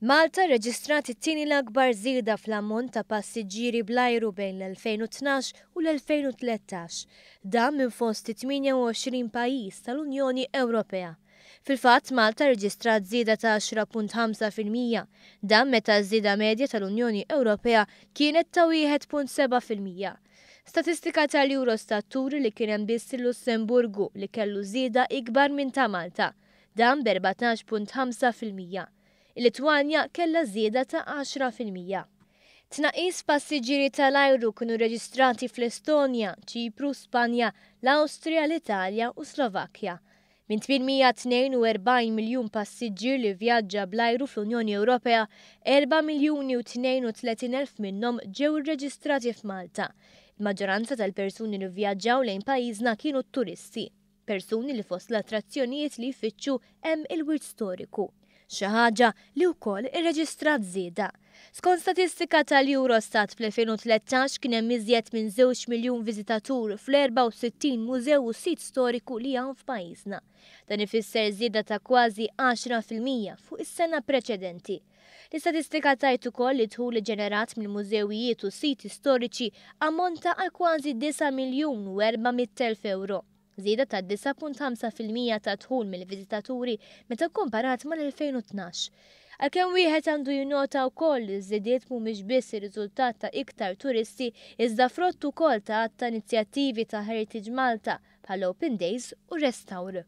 Malta rreġistrat it-tieni l-akbar żieda fl-ammont ta' passiġġieri bl-ajru bejn l-2012 u l-2013. Dan minn fost it-28 pajjiż tal-Unjoni Ewropea. Fil-fatt, Malta rreġistrat żieda ta' 10.5%. Dan meta ż-żieda medja tal-Unjoni Ewropea kienet ta' 1.7%. Statistika tal-Eurostat turi li kien hemm biss il-Lussemburgu li kellu żieda ikbar minn ta' Malta. Dan b'14.5%. Il-Litwanja kellha żieda ta' 10%. Tnaqqis f'passiġġieri tal-ajru kienu rreġistrati fl-Estonja, Ċipru, Spanja, l-Awstrija, l-Italja u Slovakkja. Minn 842 miljun passiġġier li vvjaġġa bl-ajru fl-Unjoni Ewropea, 4 miljuni u 32 elf minnhom ġew irreġistrati f'Malta. Il-maġġoranza tal-persuni li vvjaġġaw lejn pajjiżna kienu turisti. Persuni li fost l-attrazzjonijiet li jfittxu hemm il-wirt storiku, xi ħaġa li wkoll irreġistrat żieda. Skont statistika tal-Eurostat fl-2013 kien hemm iżjed minn żewġ miljun viżitatur fl-64 mużew u sit storiku li hawn f'pajjiżna. Dan ifisser żieda ta' kważi 10% fuq is-sena preċedenti. L-istatistika tgħid ukoll li d-dħul iġġenerat mill-mużewijiet u siti storiċi ammonta għal kważi 9 miljun u 400 elf ewro, żieda ta' 9.5% tad-dħul mill-viżitaturi meta kkomparat mal-2012. Għalkemm wieħed għandu jinnota wkoll li ż-żidiet mhumiex biss ir-riżultat ta' iktar turisti iżda frott ukoll ta' għadd ta' inizjattivi ta' Heritage Malta bħall-Open Days u Restawr.